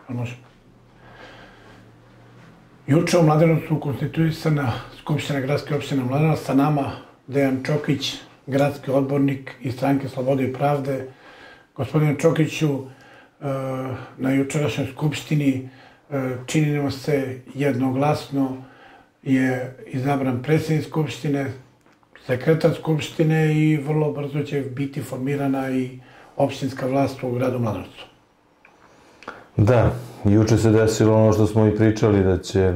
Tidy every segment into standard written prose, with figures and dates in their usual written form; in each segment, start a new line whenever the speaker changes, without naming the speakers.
Može. Juče u Mladenovcu konstituisana Skupština gradske opštine Mladenovac, sa nama Dejan Čokić, gradski odbornik iz Stranke Slobode i pravde. Gospodine Čokiću, na jučerašnjoj Skupštini čini nam se jednoglasno je izabran predsjednik Skupštine, sekretar Skupštine i vrlo brzo će biti formirana i opštinska vlast u gradu Mladenovcu.
Da, juče se desilo ono što smo i pričali, da će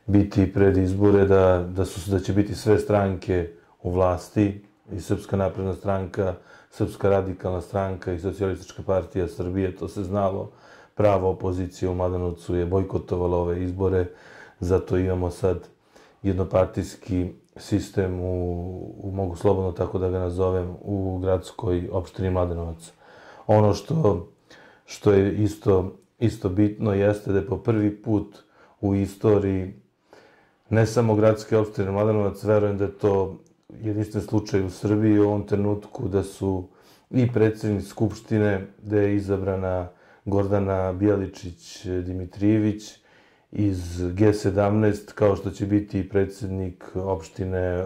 biti pred izbore, da će biti sve stranke u vlasti, i Srpska napredna stranka, Srpska radikalna stranka i Socijalistička partija Srbije, to se znalo. Prava opozicija u Mladenovcu je bojkotovala ove izbore, zato imamo sad jednopartijski sistem, mogu slobodno tako da ga nazovem, u gradskoj opštini Mladenovac. Ono što je isto bitno jeste da je po prvi put u istoriji ne samo gradske opštine Mladenovac, verujem da je to jedinstven slučaj u Srbiji u ovom trenutku, da su i predsjednik Skupštine, da je izabrana Gordana Bijeličić-Dimitrijević iz G17, kao što će biti i predsjednik opštine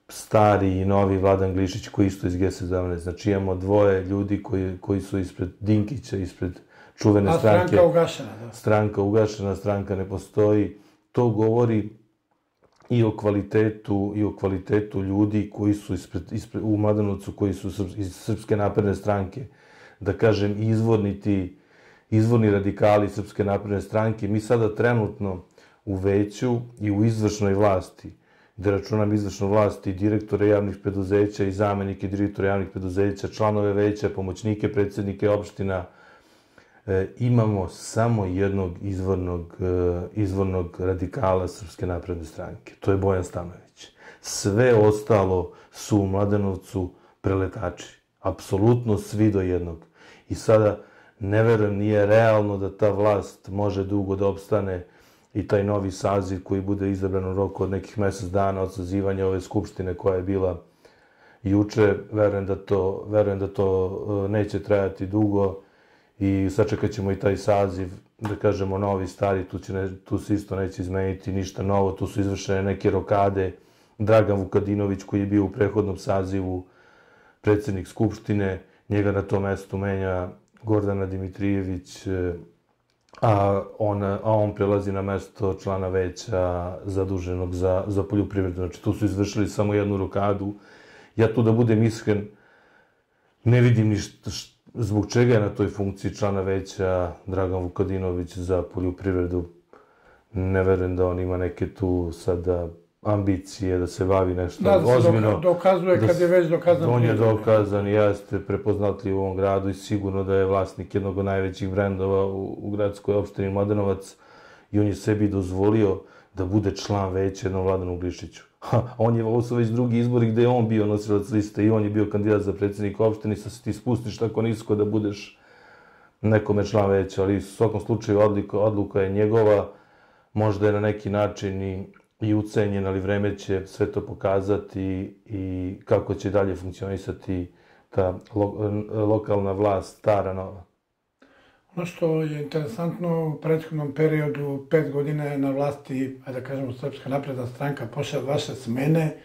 stari i novi Vladan Glišić, koji isto iz G17. Znači imamo dvoje ljudi koji su ispred Dinkića, ispred čuvene stranke.
A stranka ugašena, da.
Stranka ugašena, stranka ne postoji. To govori i o kvalitetu ljudi koji su u Mladenovcu, koji su iz Srpske napredne stranke. Da kažem, izvorni radikali Srpske napredne stranke. Mi sada trenutno u veću i u izvršnoj vlasti, gde računam izvršnu vlast i direktore javnih preduzeća i zamenike direktora javnih preduzeća, članove veća, pomoćnike predsjednike opština, imamo samo jednog izvornog radikala Srpske napredne stranke. To je Bojan Stanojević. Sve ostalo su u Mladenovcu preletači. Apsolutno svi do jednog. I sada ne verujem, nije realno da ta vlast može dugo da opstane i taj novi saziv koji bude izabran u roku od nekih mjesec dana od sazivanja ove skupštine koja je bila juče. Verujem da to neće trajati dugo i sačekat ćemo i taj saziv, da kažemo novi, stari, tu se isto neće izmeniti ništa novo, tu su izvršene neke rokade. Dragan Vukadinović, koji je bio u prethodnom sazivu predsjednik Skupštine, njega na to mesto menja Gordana Dimitrijević, a on prelazi na mesto člana veća zaduženog za poljoprivredu. Znači, tu su izvršili samo jednu rokadu. Ja tu, da budem iskren, ne vidim ništa zbog čega je na toj funkciji člana veća Dragan Vukadinović za poljoprivredu. Ne verujem da on ima neke tu sada ambicije da se bavi nešto ozbiljno.
Da, dokazuje kad je već dokazan.
On je dokazan i jeste prepoznatljiv u ovom gradu i sigurno da je vlasnik jednog od najvećih brendova u gradskoj opštini Mladenovac i on je sebi dozvolio da bude član veća jednom Vladanu Glišiću. Ovo su već drugi izbori gde je on bio nosilac liste i on je bio kandidat za predsjednika opštine, sad se ti spustiš tako nisko da budeš nekome član veća, ali u svakom slučaju odluka je njegova, možda je na neki način i ucenjen, ali vreme će sve to pokazati i kako će dalje funkcionisati ta lokalna vlast, stara, nova.
Ono što je interesantno, u prethodnom periodu 5 godina je na vlasti, da kažemo, Srpska napredna stranka, pošle vaše smene.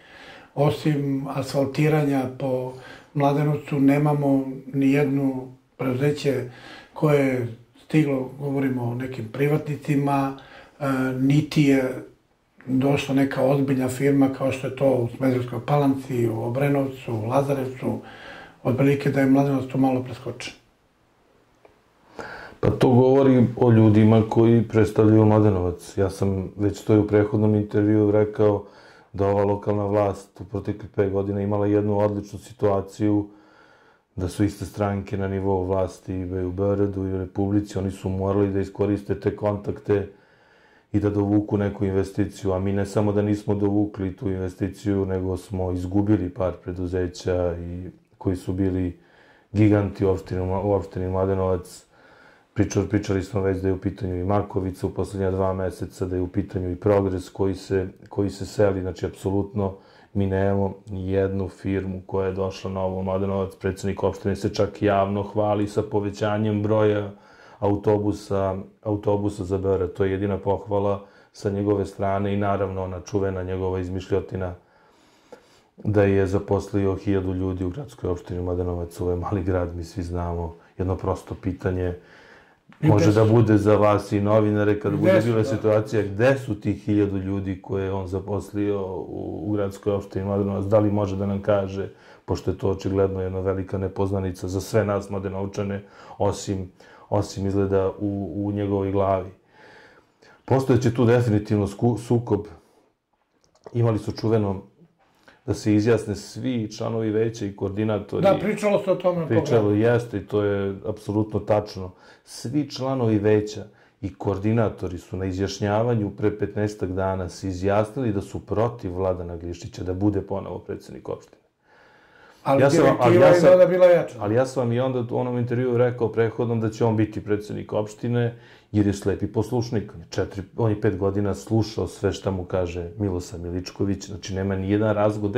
Osim asfaltiranja po Mladenovcu nemamo ni jedno preduzeće koje je stiglo, govorimo o nekim privatnicima, niti je došla neka ozbiljna firma kao što je to u Smederevskoj Palanci, u Obrenovcu, u Lazarevcu, otprilike da je Mladenovac tu malo preskočen.
Pa to govori o ljudima koji predstavljaju Mladenovac. Ja sam već to u prethodnom intervjuu rekao da ova lokalna vlast u proteklih 5 godina imala jednu odličnu situaciju, da su iste stranke na nivou vlasti i u Beogradu i u Republici. Oni su morali da iskoriste te kontakte i da dovuku neku investiciju, a mi ne samo da nismo dovukli tu investiciju, nego smo izgubili par preduzeća koji su bili giganti u opštini Mladenovac. Pričali smo već da je u pitanju i Markovica u poslednja 2 meseca, da je u pitanju i Progres koji se seli. Znači, apsolutno mi nemamo ni jednu firmu koja je došla na ovo Mladenovac. Predsjednik opštine se čak javno hvali sa povećanjem broja autobusa za Beograd. To je jedina pohvala sa njegove strane i naravno ona čuvena njegova izmišljotina da je zaposlio 1000 ljudi u gradskoj opštini Mladenovac. Ovo je mali grad, mi svi znamo. Jedno prosto pitanje može da bude za vas i novinare kada bude bila situacija gde su tih 1000 ljudi koje je on zaposlio u gradskoj opštini Mladenovac. Da li može da nam kaže, pošto je to očigledno jedna velika nepoznanica za sve nas Mladenovčane, osim izgleda u njegovoj glavi. Postojeće tu definitivno sukob. Imali su čuveno da se izjasne svi članovi veća i koordinatori.
Da, pričalo se o tome.
Pričalo jeste i to je apsolutno tačno. Svi članovi veća i koordinatori su na izjašnjavanju pre 15 dana se izjasnili da su protiv Vladana Glišića da bude ponovo predsjednik opštine.
Ali direktiva je tada bila jača.
Ali ja sam vam i onda u onom intervjuu rekao prethodnom da će on biti predsjednik opštine, jer je slepi poslušnik. On je 5 godina slušao sve šta mu kaže Milosav Miličković, znači nema ni jedan razgovor.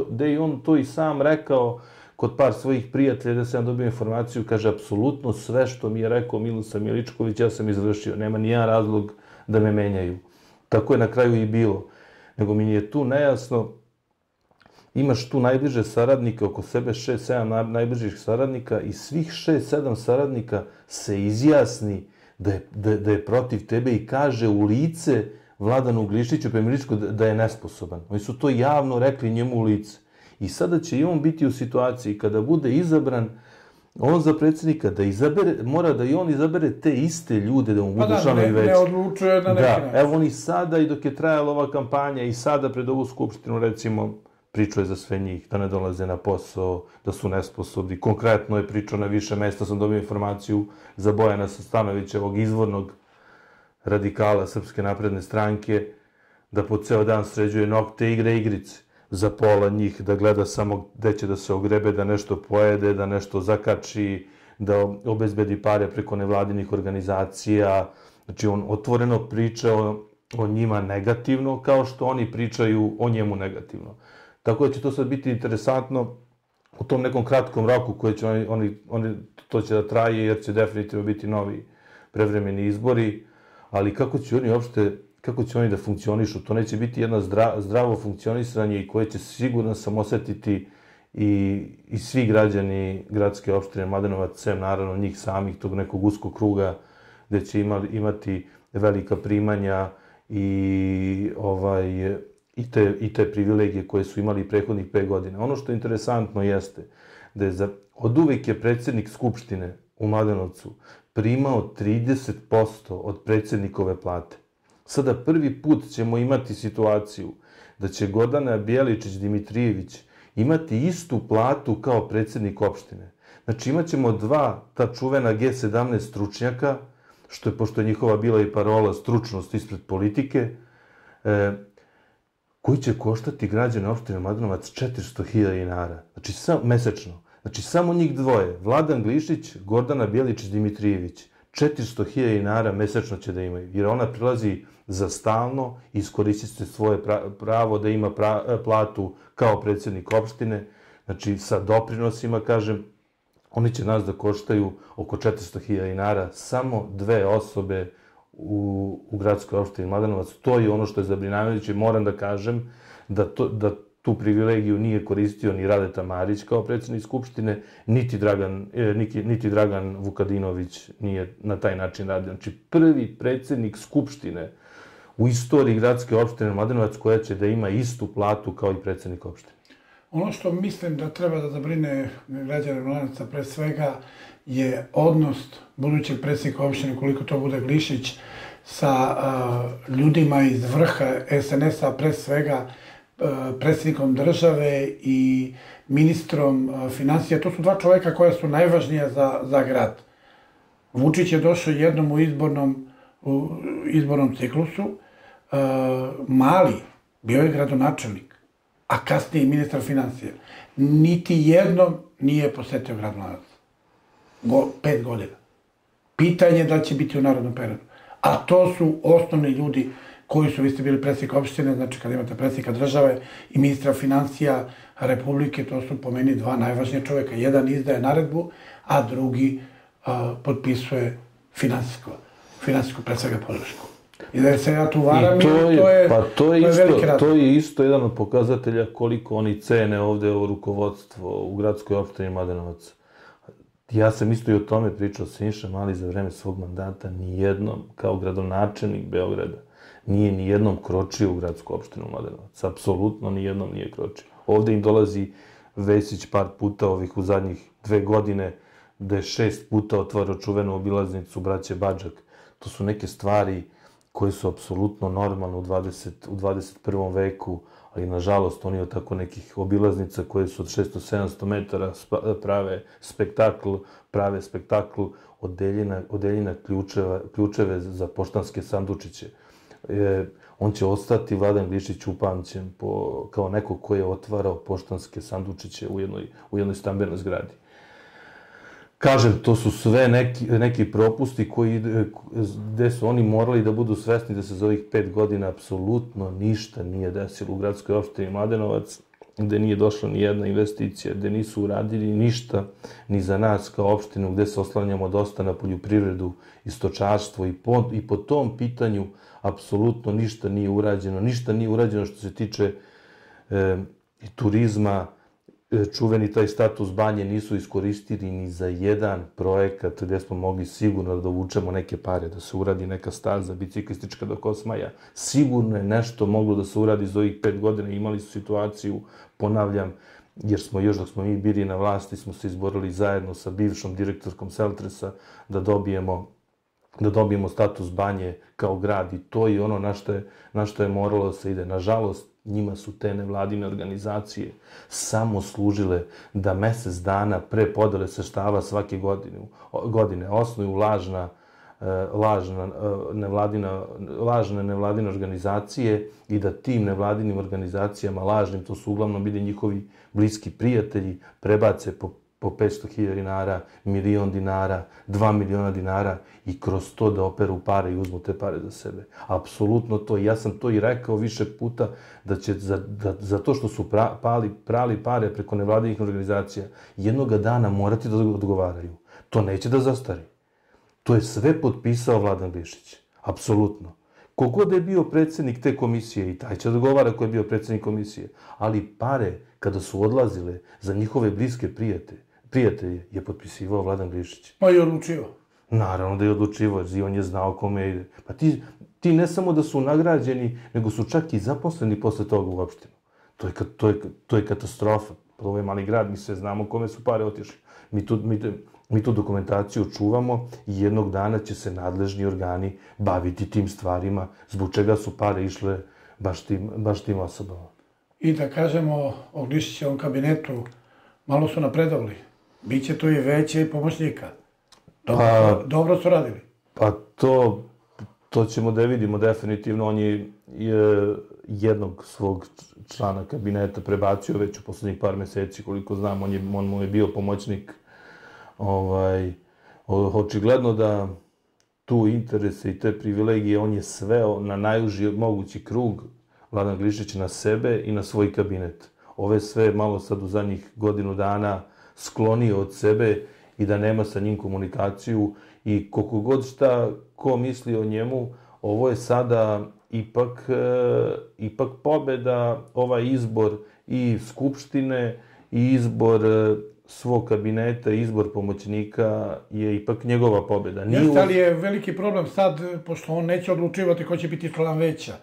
Da je on to i sam rekao kod par svojih prijatelja, da sam dobio informaciju, kaže, apsolutno sve što mi je rekao Milosav Miličković, ja sam izvršio. Nema ni jedan razlog da me menjaju. Tako je na kraju i bilo. Nego mi je tu nejasno, imaš tu najbliže saradnike, oko sebe 6-7 najbližih saradnika i svih 6-7 saradnika se izjasni da je protiv tebe i kaže u lice Vladanu Glišiću Miličku da je nesposoban. Oni su to javno rekli njemu u lice. I sada će i on biti u situaciji kada bude izabran on za predsjednika, da mora da i on izabere te iste ljude da mu budu članovi veća.
Ne odlučuje na neki način.
Da, evo oni sada i dok je trajala ova kampanja i sada pred ovu skupštinu, recimo, pričao je za sve njih, da ne dolaze na posao, da su nesposobni. Konkretno je pričao na više mesta, sam dobio informaciju za Bojana Stanovića, ovog izvornog radikala Srpske napredne stranke, da po ceo dan sređuje nokte, igrice. Za pola njih, da gleda samo gde će da se ogrebe, da nešto pojede, da nešto zakači, da obezbedi pare preko nevladinih organizacija. Znači, on otvoreno priča o njima negativno, kao što oni pričaju o njemu negativno. Tako da će to sad biti interesantno u tom nekom kratkom roku koje će to će da traje, jer će definitivno biti novi prevremeni izbori, ali kako će oni da funkcionišu, to neće biti jedno zdravo funkcionisanje i koje će sigurno sam osetiti i svi građani gradske opštine Mladenovac, sem naravno njih samih, tog nekog uskog kruga gde će imati velika primanja i te privilegije koje su imali prethodnih 5 godina. Ono što je interesantno jeste da je od uvek je predsjednik Skupštine u Mladenovcu primao 30% od predsjednikove plate. Sada prvi put ćemo imati situaciju da će Gordana Bjeličić-Dimitrijević imati istu platu kao predsjednik opštine. Znači imat ćemo ta čuvena G17 stručnjaka, pošto je njihova bila i parola stručnost ispred politike, koji će koštati građane opštine Mladenovac 400.000 dinara. Znači mesečno. Znači samo njih dvoje, Vladan Glišić, Gordana Bjeličić-Dimitrijević, 400.000 dinara mesečno će da imaju, jer ona prilazi za stalno i iskoristit će svoje pravo da ima platu kao predsjednik opštine, znači sa doprinosima, kažem, oni će nas da koštaju oko 400.000 dinara, samo 2 osobe u gradskoj opštini Mladenovac. To je ono što je zabrinjavajuće. Moram da kažem da tu privilegiju nije koristio ni Radeta Marić kao predsjednik Skupštine, niti Dragan Vukadinović nije na taj način radio. Znači, prvi predsjednik Skupštine u istoriji gradske opštine Mladenovac koja će da ima istu platu kao i predsjednik opštine.
Ono što mislim da treba da zabrine građane Mladenovca pre svega je odnos budućeg predsjednika opštine, koliko to bude Glišić, sa ljudima iz vrha SNS-a, pre svega predsjednikom države i ministrom finansija. To su 2 čoveka koja su najvažnija za grad. Vučić je došao jednom u izbornom ciklusu. Mali, bio je gradonačelnik, a kasnije i ministar finansija. Niti jednom nije posetio grad Mladenovac. 5 godina. Pitanje da će biti u narodnom periodu. A to su osnovni ljudi koji su, vi ste bili predsjednik opštine, znači kad imate predsjednika države i ministra finansija Republike, to su po meni 2 najvažnije čoveka. Jedan izdaje naredbu, a drugi potpisuje finansijsku pred svega podršku. I da se ja tu varam, to je veliki razlog.
To je isto jedan od pokazatelja koliko oni cene ovde ovo rukovodstvo u gradskoj opštini Mladenovac. Ja sam isto i o tome pričao sa Siniša Mali za vreme svog mandata, nijednom, kao gradonačelnik Beograda, nije nijednom kročio u gradsku opštinu Mladenovac. Apsolutno nijednom nije kročio. Ovde im dolazi Vesić par puta u zadnjih 2 godine, da je 6 puta otvarao čuvenu obilaznicu braće Badžak. To su neke stvari koje su apsolutno normalne u 21. veku, ali nažalost oni od tako nekih obilaznica koje su od 600-700 metara prave spektakl odeljena ključeve za poštanske sandučiće. On će ostati, Vladan Glišić, upamćen kao neko ko je otvarao poštanske sandučiće u jednoj stambenoj zgradi. Kažem, to su sve neki propusti gde su oni morali da budu svesni da se za ovih 5 godina apsolutno ništa nije desilo u gradskoj opštini Mladenovac, gde nije došla ni jedna investicija, gde nisu uradili ništa ni za nas kao opštinu, gde se oslanjamo dosta na poljoprivredu i stočarstvo i po tom pitanju apsolutno ništa nije urađeno. Ništa nije urađeno što se tiče turizma. Čuveni taj status banje nisu iskoristili ni za jedan projekat gde smo mogli sigurno da dovučemo neke pare, da se uradi neka staza biciklistička do Kosmaja. Sigurno je nešto moglo da se uradi za ovih 5 godina. Imali su situaciju, ponavljam, jer smo još dok smo mi bili na vlasti, smo se izborili zajedno sa bivšom direktorkom Seltresa da dobijemo status banje kao grad i to je ono na što je moralo da se ide. Nažalost, njima su te nevladine organizacije samo služile da mesec dana pre podele sredstava svake godine osnuju lažne nevladine organizacije i da tim nevladinim organizacijama lažnim, to su uglavnom bili njihovi bliski prijatelji, prebace po 500.000 dinara, 1.000.000 dinara, 2 miliona dinara i kroz to da operu pare i uzmu te pare za sebe. Apsolutno to. Ja sam to i rekao više puta da će za to što su prali pare preko nevladinih organizacija jednoga dana morati da odgovaraju. To neće da zastari. To je sve potpisao Vladan Glišić. Apsolutno. Kogod da je bio predsjednik te komisije, i taj će odgovara ko je bio predsjednik komisije, ali pare kada su odlazile za njihove bliske prijatelje je potpisivao Vladan Glišić.
Pa i odlučivao.
Naravno da je odlučivao, jer on je znao kome ide. Pa ti ne samo da su nagrađeni, nego su čak i zaposleni posle toga u opštinu. To je katastrofa. Ovo je mali grad, mi sve znamo kome su pare otišli. Mi tu dokumentaciju čuvamo i jednog dana će se nadležni organi baviti tim stvarima zbog čega su pare išle baš tim osobama.
I da kažemo o Glišićevom kabinetu, malo su napredovali. Biće tu i veće pomoćnika. Dobro su radili.
Pa to ćemo da vidimo definitivno. On je jednog svog člana kabineta prebacio već u poslednjih par meseci, koliko znam, on mu je bio pomoćnik. Očigledno da tu interese i te privilegije on je sveo na najuži mogući krug Vladan Glišić na sebe i na svoj kabinet. Ove sve malo sad u zadnjih godinu dana sklonio od sebe i da nema sa njim komunikaciju i koliko god šta ko misli o njemu, ovo je sada ipak pobeda, ovaj izbor i Skupštine i izbor svog kabineta, izbor pomoćnika je ipak njegova pobeda.
Jeste, ali je veliki problem sad, pošto on neće odlučivati ko će biti član veća.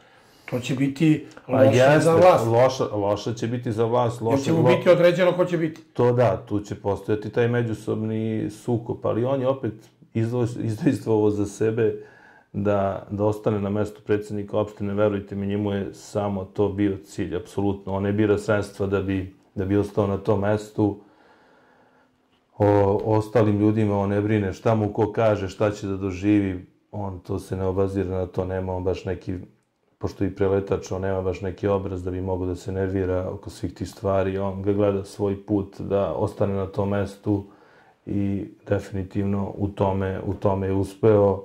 To će biti loše za vlast.
Loše će biti za vlast.
Jer će mu biti određeno ko će biti.
To da, tu će postojati taj međusobni sukob, ali on je opet izdejstvovao za sebe da ostane na mestu predsjednika opštine. Verujte mi, njemu je samo to bio cilj, apsolutno. On ne bira sredstva da bi ostao na tom mestu. O ostalim ljudima on ne brine šta mu ko kaže, šta će da doživi. On to se ne obazira na to, nema on baš neki, pošto i preletač, on nema baš neki obraz da bi mogao da se nervira oko svih tih stvari. On ga gleda svoj put da ostane na tom mestu i definitivno u tome je uspeo.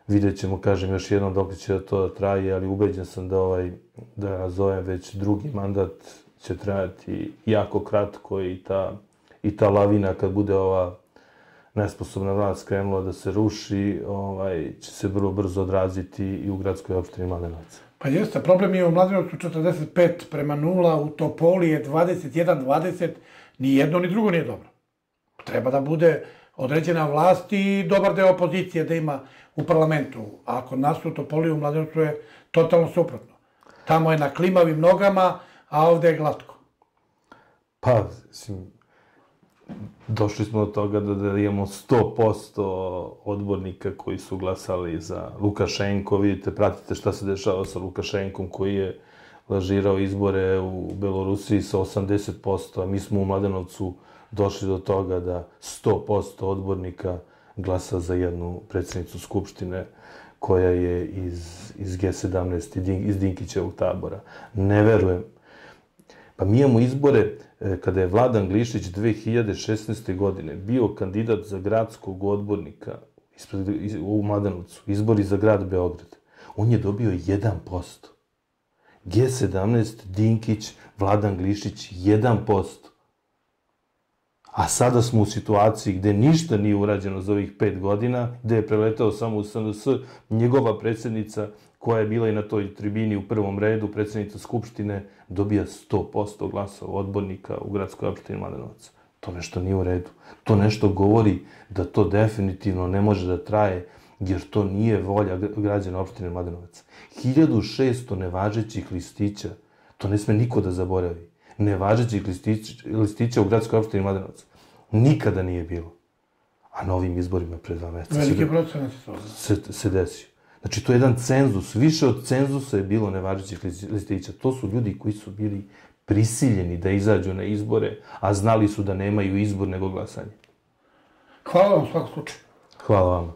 Vidjet ćemo, kažem još jednom dok će to traje, ali ubeđen sam da nazovem već drugi mandat će trajati jako kratko i ta lavina kad bude ova nesposobna vlast krenula da se ruši, će se vrlo brzo odraziti i u gradskoj opštini Mladenovac.
Pa jeste, problem je u Mladenovcu 45:0, u Topoli je 21:20, ni jedno ni drugo nije dobro. Treba da bude određena vlast i dobar deo opozicije da ima u parlamentu. A kod nas u Topoli i u Mladenovcu je totalno suprotno. Tamo je na klimavim nogama, a ovde je glatko.
Pa, došli smo do toga da imamo 100% odbornika koji su glasali za Lukašenko. Vidite, pratite šta se dešava sa Lukašenkom koji je lažirao izbore u Belorusiji sa 80%, a mi smo u Mladenovcu došli do toga da 100% odbornika glasa za jednu predsjednicu Skupštine koja je iz G17, iz Dinkićevog tabora. Ne verujem. Pa mi imamo izbore kada je Vladan Glišić 2016. godine bio kandidat za gradskog odbornika u Mladenovcu, izbori za grad Beograd. On je dobio 1%. G17, Dinkić, Vladan Glišić 1%. A sada smo u situaciji gde ništa nije urađeno za ovih 5 godina, gde je preletao samo u SNS, njegova predsjednica, koja je bila i na toj tribini u prvom redu, predsjednica Skupštine, dobija 100% glasova odbornika u gradskoj opštini Mladenovac. To nešto nije u redu. To nešto govori da to definitivno ne može da traje, jer to nije volja građana opštine Mladenovac. 1600 nevažećih listića, to ne sme niko da zaboravi. Nevažećih listića u gradskoj opštini Mladenovac nikada nije bilo. A na ovim izborima pre 2 meseca
Veliki procenat
se desio. Znači, to je jedan cenzus. Više od cenzusa je bilo nevažećih listića. To su ljudi koji su bili prisiljeni da izađu na izbore, a znali su da nemaju izbor nego glasanje.
Hvala vam u svakom slučaju.
Hvala vam.